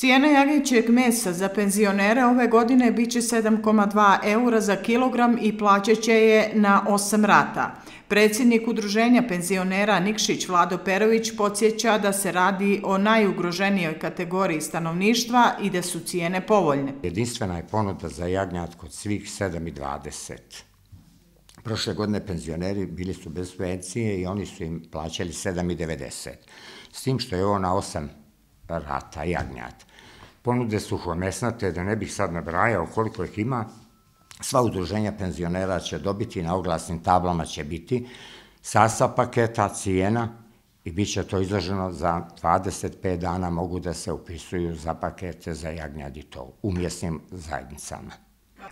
Cijena jagnjećeg mesa za penzionere ove godine biće 7,2 eura za kilogram i plaćat će je na 8 rata. Predsjednik Udruženja penzionera Nikšić Vlado Perović podsjeća da se radi o najugroženijoj kategoriji stanovništva i da su cijene povoljne. Jedinstvena je ponuda za jagnjad kod svih 7,20. Prošle godine penzioneri bili su bez subvencije i oni su im plaćali 7,90. S tim što je ovo na 8 rata jagnjad. Ponude su mesnate, da ne bih sad nabrajao koliko ih ima. Sva udruženja penzionera će dobiti, na oglasnim tablama će biti sastav paketa, cijena i bit će to izloženo za 25 dana, mogu da se upisuju za pakete za jagnjad i to u mjesnim zajednicama.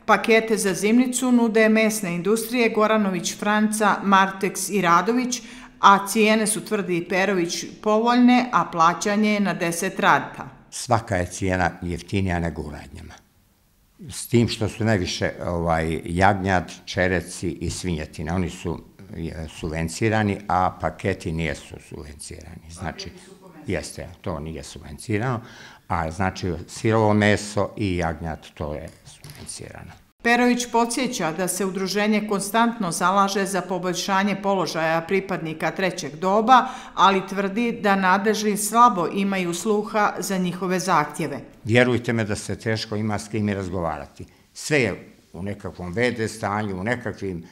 Pakete za zimnicu nude mesne industrije Goranović, Franca, Marteks i Radović, a cijene su, tvrdi Perović, povoljne, a plaćanje je na 10 rata. Svaka je cijena jeftinija nego u radnjama. S tim što su najviše jagnjad, čereci i svinjetina. Oni su subvencirani, a paketi nijesu subvencirani. Znači, jeste, to nije subvencirano, a znači sirovo meso i jagnjad, to je subvencirano. Perović podsjeća da se udruženje konstantno zalaže za poboljšanje položaja pripadnika trećeg doba, ali tvrdi da nadležni slabo imaju sluha za njihove zahtjeve. Vjerujte me da se teško ima s kim i razgovarati. Sve je u nekakvom VD stanju, u nekakvim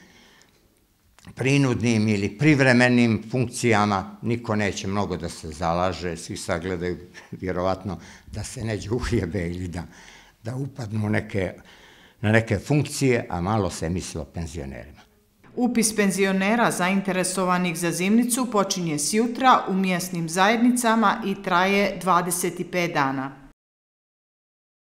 prinudnim ili privremenim funkcijama, niko neće mnogo da se zalaže, svi sagledaju vjerovatno da se neđe uhljebe ili da upadnu na neke funkcije, a malo se misli o penzionerima. Upis penzionera zainteresovanih za zimnicu počinje sjutra u mjesnim zajednicama i traje 25 dana.